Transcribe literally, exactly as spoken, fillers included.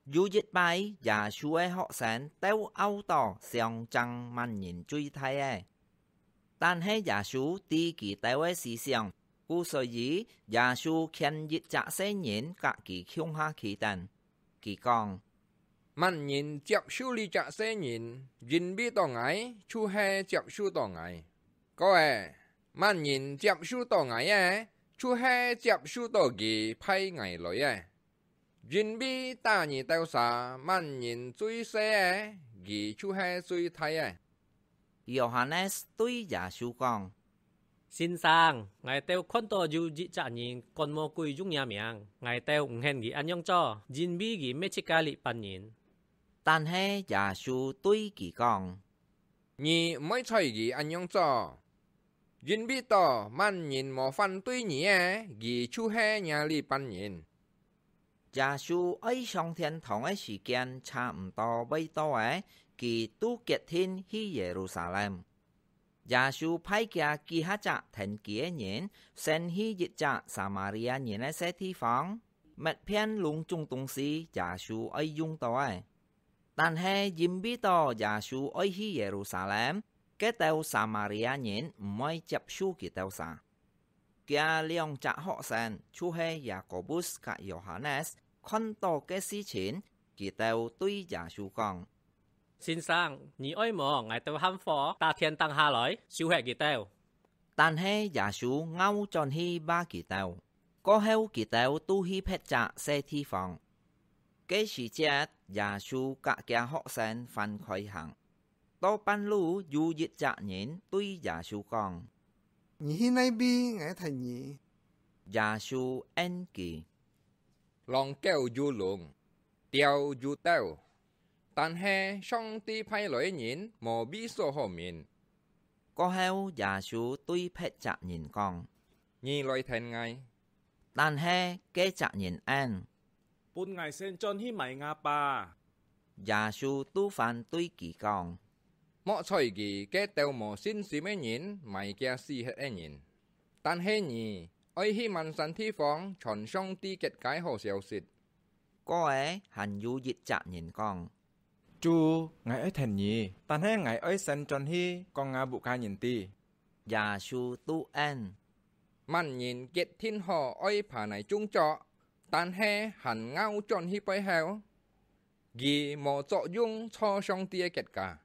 有一擺，耶穌个學生鬥拗到想爭麼人最大个。但係耶穌知佢兜个思想，故所以耶穌牽一隻細人佮佢共下企等。佢講：「麼人接受這隻細人，因為到𠊎，就係接受到𠊎。過仔，麼人接受到𠊎个，就係接受到佢派𠊎來个。因為打你兜儕，麼人最細个，佢就係最大个。」Yohanes對耶穌講：「先生，𠊎兜看到有一隻人趕魔鬼用若名，𠊎兜毋肯佢恁樣做，因為佢搣自家這般人。」但係耶穌對佢講：「你毋愛睬佢恁樣做，因為到麼人無反對你个，佢就係若這般人。」耶穌愛上天堂个時間差毋多會到咧，佢就決定去耶路撒冷。耶穌派厥幾下隻跈佢个人，先去一隻撒馬利亞人个細地方，搣遍攏總東西耶穌愛用到个。但係因為到耶穌愛去耶路撒冷，該兜撒馬利亞人毋會接受佢兜儕。厥兩隻學生，就係Yakobus佮Yohanes，看到該事情，佢兜對耶穌講：「先生，你愛無𠊎兜喊火打天頂下來，燒忒佢兜？」但係耶穌拗轉去罵佢兜，過後佢兜就去別隻細地方。該時節，耶穌佮厥學生還開行。到半路，有一隻人對耶穌講：「你去哪位，𠊎跈你。」耶穌應佢：「狼狗有籠，鳥有竇，但係上帝派來个人無位所好眠。」過後，耶穌對別隻人講：「你來跈𠊎。」但係該隻人應：「分𠊎先轉去埋吾爸。」耶穌就還對佢講：「莫睬佢，該兜無信心个人埋厥死忒个人。但係你，愛去滿山地方傳上帝國个好消息。」過仔，還有一隻人講：「主，𠊎愛跈你，但係𠊎愛先轉去講吾屋下人知。」耶穌就應：「麼人決定好愛耙泥種作，但係還拗轉去背後，佢無作用坐上帝个國家。」